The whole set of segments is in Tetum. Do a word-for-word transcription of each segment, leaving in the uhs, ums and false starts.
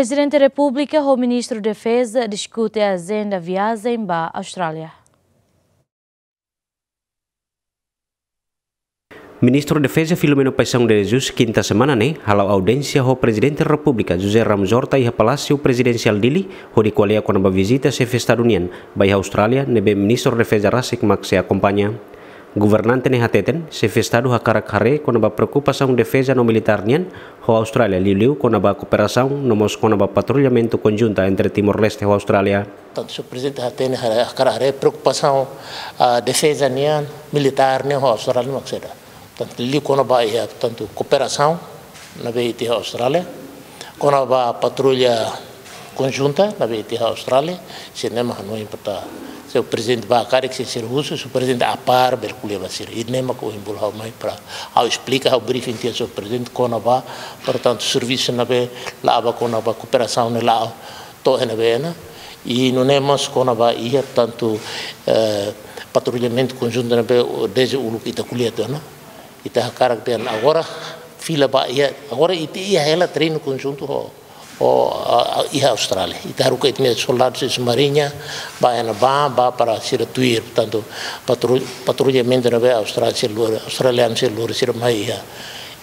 Prezidente Repúblika ho Ministru Defeza diskute ajenda viajen ba Austrália. Ministru Defeza Filomeno Paixão de Jesus, kinta semana ne'e, hala'o audiénsia ho Prezidente Repúblika José Ramos Horta iha Palásiu Prezidensiál Dili, hodi ko'alia kona-ba vizita Xefe Estadu nian ba iha Austrália, ne'ebé Ministru Defeza rasik mak sei akompaña. Governante ne'e hateten, Xefe Estadu hakarak haree kona-ba preokupasaun defeza no militár nian ho Austrália, liuliu kona-ba kooperasaun no mós kona-ba patrullamentu konjunta entre Timor-Leste ho Austrália. Tantu Señór Prezidente hatene, hakarak haree preokupasaun, ah, defeza nian, militár nian ho Austrália mak saida. Tantu liu kona-ba iha, tantu kooperasaun ne'ebé ita iha Austrália, kona-ba patrulla konjunta ne'ebé ita iha Austrália, sira-ne'e mak hanoin para Señór Prezidente ba karik se sira husu, Señór Prezidente apar bele ko'alia ba sira. Ida-ne'e mak ohin bolu ha'u mai para ha'u esplika, ha'u briefing tiha Señór Prezidente kona-ba, portantu, servisu ne'ebé la'o ba kona-ba kooperasaun ne'e la'o to'o iha ne'ebé ona. I nune'e mós kona-ba iha tantu, eh, patrullamentu konjuntu ne'ebé desde uluk ita ko'alia tiha ona. Ita hakarak dehan agora fila ba iha, agora ita iha hela treinu konjuntu ho, ho, ah, ah, iha Austrália. Ita haruka ita-nia soldadu sira husi Mariña ba iha ne'ebá, ba para sira tuir, portantu, patru-, patrullamentu ne'ebé Austrália sira lori, australianu sira lori sira mai iha,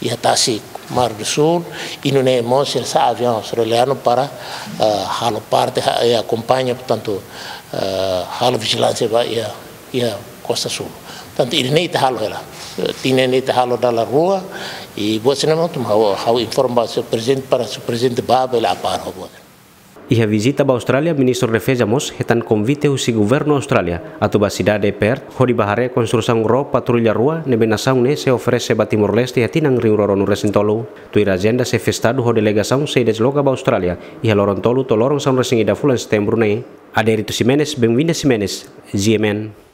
iha tasi Mar do Sul, i nune'e mós sira sa'e aviaun australianu para, ah, halo parte, ha-, eh, akompaña, portantu, ah, halo vijilánsia ba iha, iha Kosta Sul. Tantu ida-ne'e ita halo hela. Eh, tinan ne'e ita halo dala rua, i buat sira-ne'e mak ha'u, ha'u informa ba Señór Prezidente para Señór Prezidente ba bele apar ho buat. Iha vizita ba Austrália, Ministru Defeza mós hetan konvite husi Governu Austrália atu ba sidade Perth, hodi ba haree konstrusaun ró patrulla rua ne'ebé nasaun ne'e sei oferese ba Timor-Leste iha tinan rihun rua ruanulu resin tolu. Tuir ajenda, Xefe Estadu ho delegasaun sei desloka ba Austrália iha loron tolu to'o loron sanulu resin ida fulan Setembru ne'e. Adérito Ximenes, Benvinda Ximenes, G M N.